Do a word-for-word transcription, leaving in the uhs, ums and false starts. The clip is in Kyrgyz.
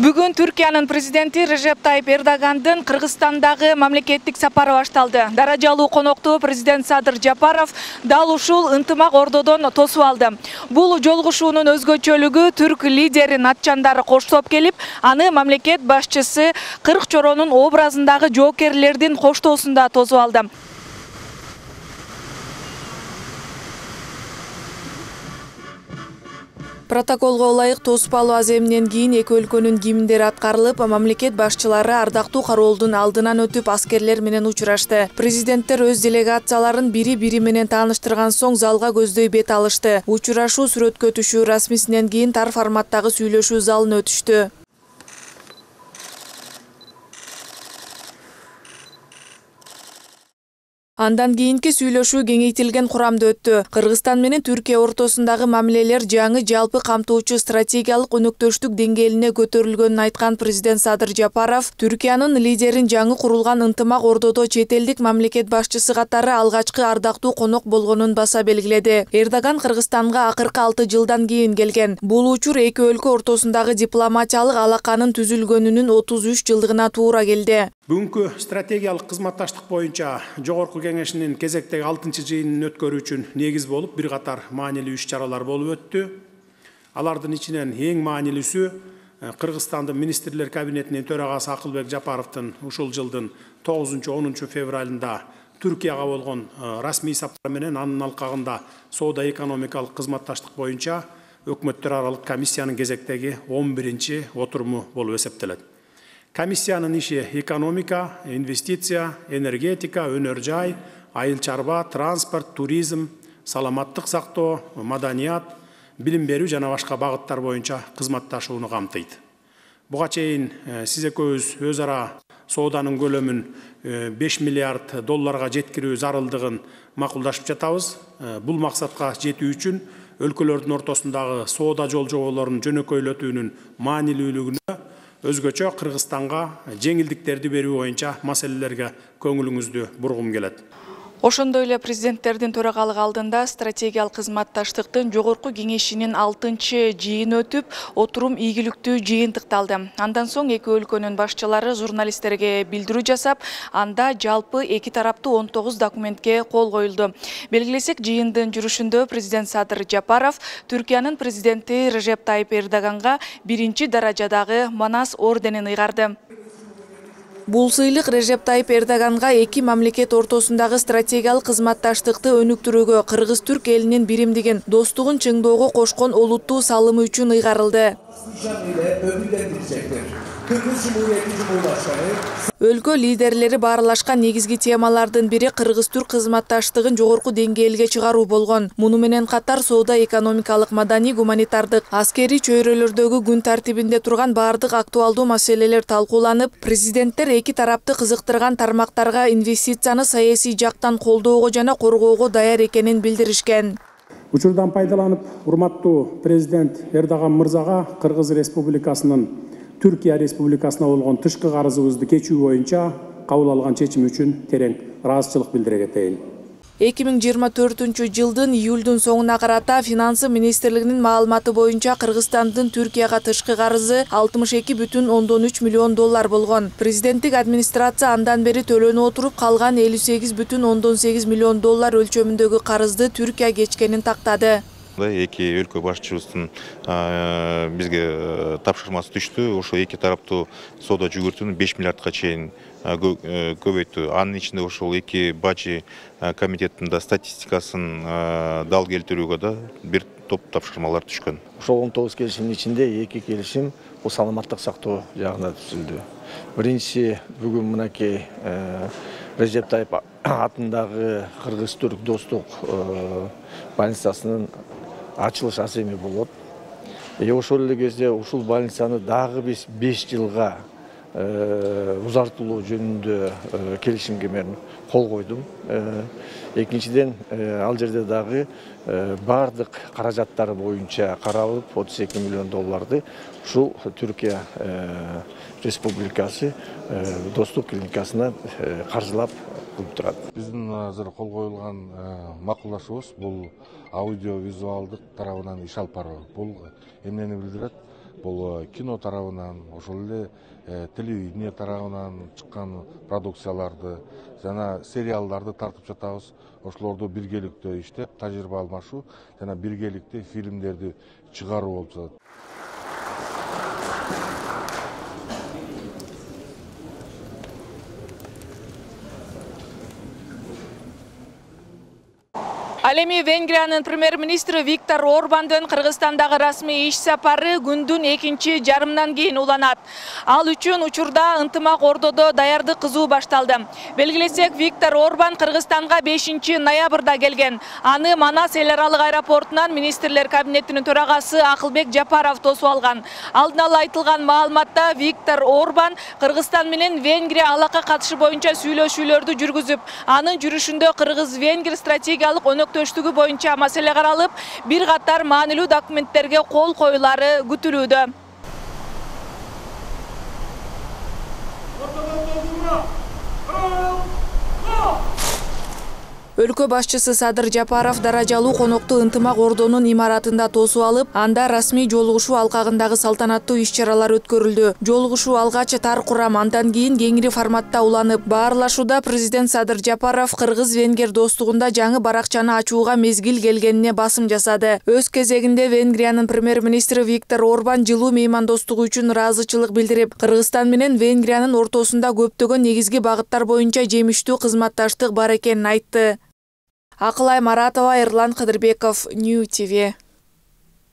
Бүгүн Түркиянын президенти Режеп Тайип Эрдогандын Кыргызстандагы мамлекеттик сапары башталды. Даражалуу конокту президент Садыр Жапаров дал ушул ынтымак ордодон тосуп алды. Бул жолугушуунун өзгөчөлүгү түрк лидерин атчандары коштоп келип, аны мамлекет башчысы кырк чоронун образындагы жоокерлердин коштоосунда тосуп алды. Протоколго ылайык тоспалуу аземинен кийин эки өлкөнүн гимндери аткарылып, мамлекет башчылары ардактуу кароолдун алдынан өтүп, аскерлер менен учурашты. Президенттер өз делегацияларын бири-бири менен тааныштырган соң залга көздөй бет алышты. Учурашуу сүрөткө түшүү расмисинен кийин тар форматтагы сүйлөшүү залына өтүштү. Андан кийинки сүйлөшүү кеңейтилген курамда өттү. Кыргызстан менен Түркия ортосундагы мамилелер жаңы жалпы камтуучу стратегиялык өнөктөштүк деңгээлине көтөрүлгөнүн айткан президент Садыр Жапаров, Түркиянын лидерин жаңы курулган ынтымак ордодо чет элдик мамлекет башчысы катары алгачкы ардактуу конок болгонун баса белгиледи. Эрдоган Кыргызстанга акыркы алты жылдан кийин келген. Бул учур эки өлкө ортосундагы дипломатиялык алаканын түзүлгөнүнүн отуз үч жылдыгына туура келди. Бүгүнкү стратегиялык кызматташтык боюнча жогорку кеңешинин кезектеги алтынчы жыйынын өткөрүү үчүн негиз болуп бир катар маанилүү иш-чаралар болуп өттү. Алардын ичинен эң маанилүүсү Кыргызстандын министрлер кабинетинин төрагасы Акылбек Жапаровдун ушул жылдын тогузунчу онунчу февралында Түркияга болгон расмий сапары менен анын алкагында соода экономикалык кызматташтык боюнча өкмөттөр аралык комиссиянын кезектеги он биринчи отуруму болуп эсептелет. Комиссиянын иши экономика, инвестиция, энергетика, өнөр жай, айыл чарба, транспорт, туризм, саламаттык сактоо, маданият, билим берүү жана башка багыттар боюнча кызматташууну камтыйт. Буга чейин сиз экөөбүз өз ара сооданын көлөмүн беш миллиард долларга жеткирүү зарылдыгын макулдашып жатабыз. Бул максатка жетүү үчүн өлкөлөрдүн ортосундагы соода жолжоболорун жөнөкөйлөтүүнүн маанилүүлүгүнө өзгөчө Кыргызстанга жеңилдиктерди берүү боюнча маселелерге көңүлүңүздү бургум келет. Ошондой эле президенттердин төрагалыгы алдында стратегиялык кызматташтыктын жогорку кеңешинин алтынчы жыйыны өтүп, отурум ийгиликтүү жыйынтыкталды. Андан соң эки өлкөнүн башчылары журналисттерге билдирүү жасап, анда жалпы эки тараптуу он тогуз документке кол коюлду. Белгилесек, жыйындын жүрүшүндө президент Садыр Жапаров Түркиянын президенти Режеп Тайип Эрдоганга биринчи даражадагы Манас орденин ыйгарды. Бул сыйлык Режеп Тайип Эрдоганга эки мамлекет ортосундагы стратегиялык кызматташтыкты өнүктүрүүгө, кыргыз-түрк элинин биримдигин, достугун чыңдоого кошкон олуттуу салымы үчүн ыйгарылды. Өлкө лидерлери баарлашкан негизги темалардын бири кыргыз-түрк кызматташтыгын жогорку деңгээлге чыгаруу болгон. Муну менен катар соода, экономикалык, маданий, гуманитардык, аскерий чөйрөлөрдөгү күн тартибинде турган бардык актуалдуу маселелер талкууланып, президенттер эки тарапты кызыктырган тармактарга инвестицияны саясий жактан колдоого жана коргоого даяр экенин билдиришкен. Учурдан пайдаланып, урматтуу президент Эрдоган мырзага Кыргыз Республикасынын Түркия Республикасына болгон тышкы карызыбызды кечүү боюнча кабыл алган чечим үчүн терең ыраазычылык билдире кетейин. эки миң жыйырма төртүнчү жылдын июлдун соңуна карата Финансы министрлигинин маалыматы боюнча Кыргызстандын Түркияга тышкы карызы алтымыш эки бүтүн ондон үч миллион доллар болгон. Президенттик администрация андан бери төлөнө отуруп калган элүү сегиз бүтүн ондон сегиз миллион доллар өлчөмүндөгү карызды Түркия кечкенин тактады. Эки өлкө башчыбыздын бизге тапшырмасы түштү. Ошо эки тараптуу соода жүгүртүүнү беш миллиардка чейин көбөйттү. Анын ичинде ошол эки бажы комитеттин да статистикасын дал келтирүүгө да бир топ тапшырмалар түшкөн. Ошол он тогуз келишимдин ичинде эки келишим бул саламаттык сактоо жагына түзүлдү. Биринчиси бүгүн мынакей Режеп Тайип атындагы кыргыз-түрк достук больницасынын ачылыш аземи болот. Ошол эле кезде ушул больницаны дагы биз беш жылга узартылуу жөнүндө келишимге мен кол койдум. Экинчиден, ал жерде дагы бардык каражаттары боюнча каралып, отуз эки миллион долларды ушул Түркия Республикасы достук клиникасына каржылап кылып турат. Биздин азыр кол коюлган макулдашуубуз бул аудио-визуалдык тарабынан иш алып баруу. Бул эмнени билдирет? бул кино тарабынан, ошол эле телевидение тарабынан чыккан продукцияларды жана сериалдарды тартып жатабыз. Ошолорду биргеликтөө иштеп, тажрыйба алмашуу жана биргеликте фильмдерди чыгаруу болуп жатат. Ал эми Венгриянын премьер-министри Виктор Орбандын Кыргызстандагы расмий иш сапары күндүн экинчи жарымынан кийин уланат. Ал үчүн учурда ынтымак ордодо даярдык кызуу башталды. Белгилесек, Виктор Орбан Кыргызстанга бешинчи ноябрда келген. Аны Манас эл аралык аэропортунан министрлер кабинетинин төрагасы Акылбек Жапаров тосуп алган. Алдын ала айтылган маалыматта Виктор Орбан Кыргызстан менен Венгрия алака катышы боюнча сүйлөшүүлөрдү жүргүзүп, анын жүрүшүндө Кыргыз-Венгр стратегиялык өнөктөштүгү боюнча маселе каралып, бир катар маанилүү документтерге кол коюлары күтүлүүдө. Өлкө башчысы Садыр Жапаров даражалуу конокту ынтымак ордонун имаратында тосуп алып, анда расмий жолугушуу алкагындагы салтанаттуу иш-чаралар өткөрүлдү. Жолугушуу алгач тар курам, андан кийин кеңири форматта уланып, баарлашууда президент Садыр Жапаров Кыргыз-Венгер достугунда жаңы баракчаны ачууга мезгил келгенине басым жасады. Өз кезегинде Венгриянын премьер-министри Виктор Орбан жылуу меймандостугу үчүн ыраазычылык билдирип, Кыргызстан менен Венгриянын ортосунда көптөгөн негизги багыттар боюнча жемиштүү кызматташтык бар экенин айтты. Акылай Маратова, Эрлан Кыдырбеков, Нью ти ви.